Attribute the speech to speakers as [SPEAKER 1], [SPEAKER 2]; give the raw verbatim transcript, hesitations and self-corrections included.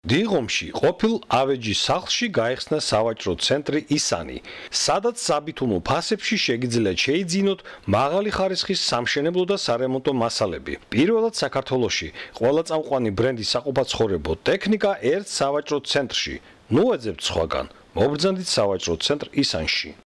[SPEAKER 1] დიღომში ყოფილ ავეჯის სახლში გაიხსნა სავაჭრო ცენტრი ისანი, სადაც საბითუნო ფასებში შეგიძლიათ შეიძინოთ მაღალი ხარისხის სამშენებლო და სარემონტო მასალები. პირველად საქართველოში ყველა წამყვანი ბრენდის საყოფაცხოვრებო ტექნიკა ერთ სავაჭრო ცენტრში. ნუ ეძებთ სხვაგან, მობრძანდით სავაჭრო ცენტრ ისანში.